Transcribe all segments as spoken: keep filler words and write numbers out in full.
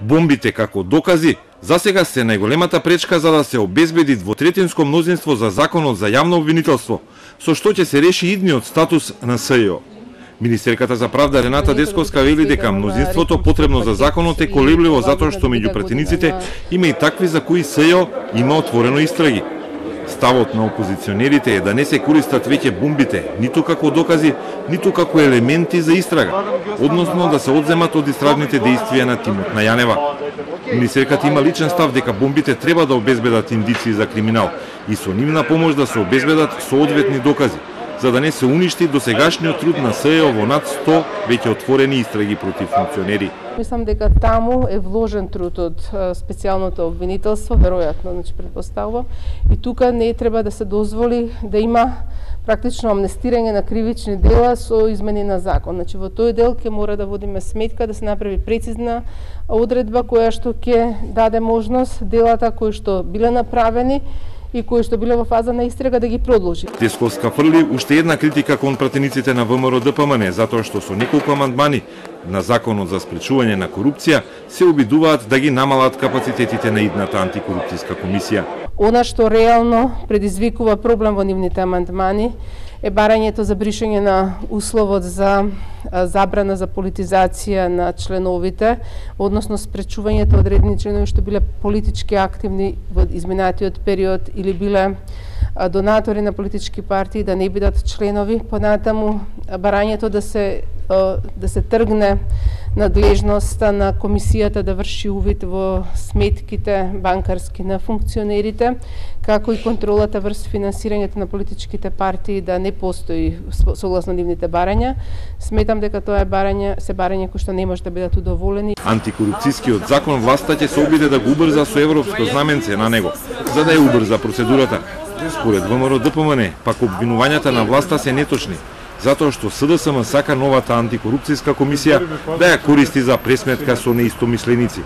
Бомбите како докази засега се најголемата пречка за да се обезбеди двотретинско мнозинство за законот за јавно обвинителство, со што ќе се реши идниот статус на СЈО. Министерката за правда Рената Десковска вели дека мнозинството потребно за законот е колебливо затоа што меѓу пратениците има и такви за кои СЈО има отворено истраги. Ставот на опозиционерите е да не се користат веќе бомбите, ниту како докази, ниту како елементи за истрага, односно да се одземат од истражните дејствија на тимот на Јанева. Министерката има личен став дека бомбите треба да обезбедат индици за криминал и со нивна помош да се обезбедат соодветни докази, за да не се уништи досегашниот труд на СЈО во над сто веќе отворени истраги против функционери. Мислам дека таму е вложен труд од специјалното обвинителство, веројатно, значи претпоставувам, и тука не треба да се дозволи да има практично амнестирање на кривични дела со измени на закон. Значи во тој дел ќе мора да водиме сметка да се направи прецизна одредба која што ќе даде можност делата кои што биле направени и кои што биле во фаза на истрага да ги продолжи. Десковска фрли уште една критика кон пратениците на ВМРО Д П М Н затоа што со неколку амандмани на законот за спречување на корупција се обидуваат да ги намалат капацитетите на идната антикорупцијска комисија. Она што реално предизвикува проблем во нивните амандмани е барањето за бришање на условот за забрана за политизација на членовите, односно спречувањето одредени членови што биле политички активни во изминатиот период или биле донатори на политички партии да не бидат членови. Понатаму барањето да се да се тргне надлежноста на комисијата да врши увид во сметките банкарски на функционерите, како и контролата врз финансирањето на политичките партии да не постои согласно нивните барања. Сметам дека тоа е барање, се барање кои што не може да бидат удоволени. Антикорупцијскиот закон власта ќе се обиде да го убрза со европско знаменце на него, за да ја убрза процедурата. Според ВМРО Д П М Н, пак обвинувањата на власта се неточни, затоа што С Д С М сака новата антикорупцијска комисија да ја користи за пресметка со неистомисленици.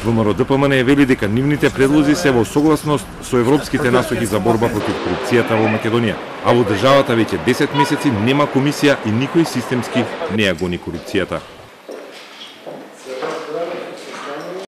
ВМРО Д П М Н вели дека нивните предлози се во согласност со европските насоки за борба против корупцијата во Македонија, а во државата веќе десет месеци нема комисија и никој системски не ја гони корупцијата.